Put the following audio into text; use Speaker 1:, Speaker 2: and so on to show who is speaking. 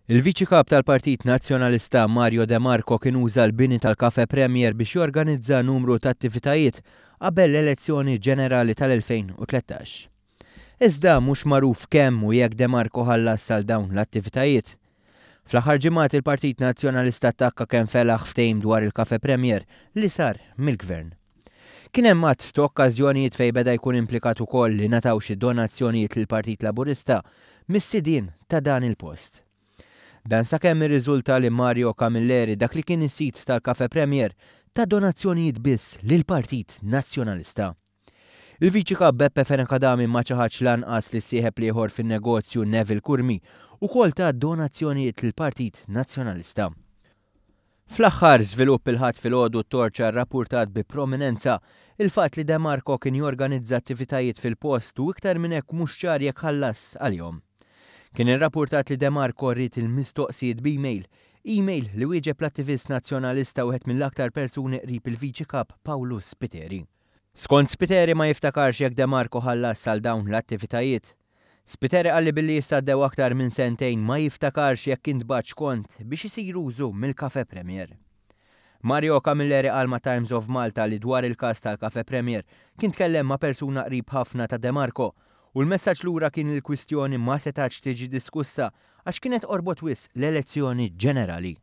Speaker 1: Il-Viċi Kap tal-Partit Nazzjonalista Mario De Marco kien uża l-bini tal-Cafe Premier biex jorganizza numru ta' attivitajiet qabel l-elezzjoni ġenerali tal-2013. Iżda mhux magħruf kemm u jekk De Marco ħallas għal dawn l-attivitajiet. Fl-aħħar ġimgħat il-Partit Nazzjonalista attakka kemm felaħ ftehim dwar il-Cafe Premier li sar mill-Gvern. Kien hemm għadd ta' okkażjonijiet fejn beda jkun implikat ukoll li ngħataw xi donazzjonijiet lill-Partit Laburista mis-sidien ta' dan il-post. Dan sakemm irriżulta li Mario Camilleri, dak li kien is-sid tal-Cafe Premier, ta donazzjonijiet biss lill-Partit Nazzjonalista. Il-Viċi Kap Beppe Fenech Adami ma ċaħadx lanqas li s-sieħeb l-ieħor fin-negozju Neville Curmi ukoll ta donazzjonijiet lill-Partit Nazzjonalista. Fl-aħħar żvilupp il-Ħadd filgħodu t-Torċa rrappurtat bi prominenza il-fatt li De Marco kien jorganizza attivitajiet fil-post u iktar minn hekk mhux ċar jekk ħallas għalihom. Kien irrappurtat li De Marco ried il-mistoqsijiet b'email, email li wieġeb l-attivist Nazzjonalista wieħed mill-aktar persuni qrib il-Viċi Kap Pawlu Spiteri. Skont Spiteri ma jiftakarx jekk De Marco ħallas għal dawn l-attivitajiet. Spiteri qal li billi issa għaddew aktar minn sentejn ma jiftakarx jekk intbagħatx kont biex isir użu mill-Cafe Premier. Mario Camilleri qal ma' Times of Malta li dwar il-każ tal-Cafe Premier kien tkellem ma' persuna qrib ħafna ta' De Marco u l-messaġġ lura kien li l-kwistjoni ma setgħetx tiġi diskussa għax kienet qorbot wisq l-elezzjoni ġenerali.